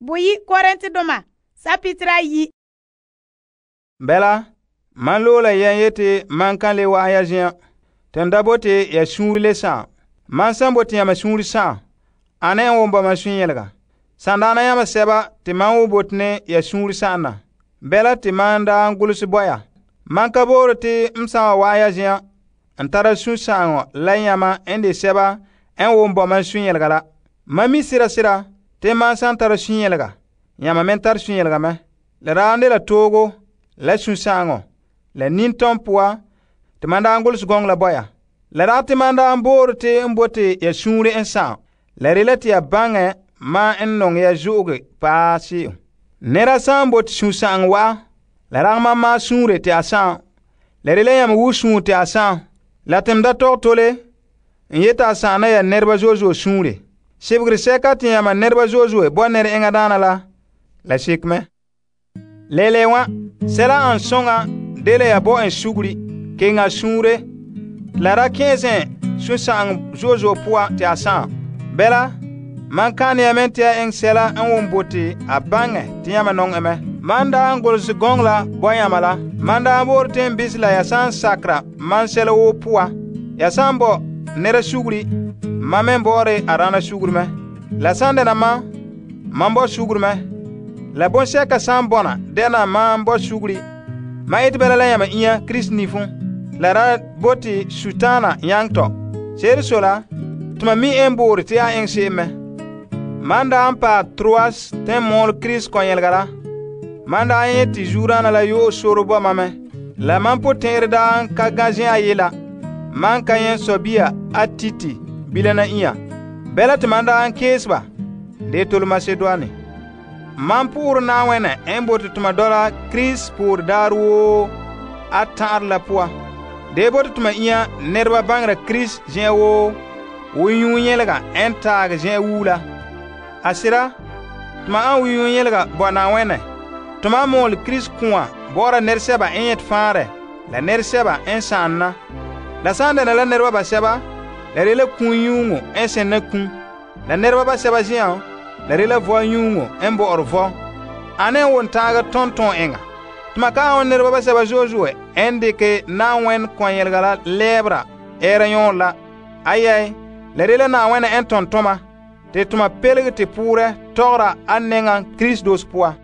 Boyi Korintedoma sapitira 1. Bela, man loola yan yeti man kan le wa'an ya zen'an. Ten da bote ya suunre le sa'am. Man san bote ya ma suunre sa'am, ane en won ba man suunyelega. Sandaana yama seba te man wo bote ne ya suunre sa'am na. Bela te man da gulse boya. Man ka bore te msan wa'an ya zen'an. En tara suun sa'ango la yama en de seba en won ba man suunyelega la. Man mi sira te man san tara suunyelega, yama men tar suunyelega me. Le raande la togo, la suun sa'ango, la nintom poa, te man da gulse gong la boya. La ra te man da bore te bote ya suunre en sa'am. La rela te ya bange ma en nong ya zo'oge pa se'em. Nera san bote suun sa'ang wa, la rag ma suunre te a sa'am. La rela yam wu suun te a sa'am. La tem da tog tole, en yeta a sa'ana ya nerba zozo suunre. Sebegre seka te yama nerba zozo bo ner enga dana la sekme. Lele wa, sela an songa dele ya bo en sugri, kenga suunre, la ra kenzen suun sa'ang zozo poa te a sa'am. Bela, man kan ya men te eng sela en won bote a bange te yama nong eme. Man da an gulse gong la bo yama la. Man da bor ten bisla ya san sakra man sela wo poa. Ya san bo nera sugri, ma men bore arana sugri me. La san dena man bo sugri me. La bon seka san bona dena man bo sugri. Ma iti bela la yama iya Kris nifun. La ra boti sutana yang to. Seri sola, tuma mi en bore te a eng se me. Man da an pa Troas ten mol Kris kon yelgara. Man da an yeti jurana la yo soro bo ma me. La man po tenre da an ka ganjen a yela. Man ka yen sobia a titi bilana iya. Bela te man da an kesba. De tol Macedoine. Man pour na wene en bote tuma dola Kris pour darwo a tar la poa. De bote tuma iya nerba bangra Kris jen wo yun yelega en tag jen wula. Asira, tuma an yun yelega bo na wene. Tuma mol Kris kuwa bora nerseba en yet fare. La nerseba en sanna. La sanda na la nerba ba seba, la rela kun yungo en sen na kun. La nerba ba seba jian, la rela vo yungo en bo orvo. Ane won taga tonton enga. Tuma ka on nerba ba seba jojoe en de ke na wen kon yelgala lebra era yon la. Ayay, la rela na wen en tontoma. Te tuma pelge te pure tora anenga Kris dos poa.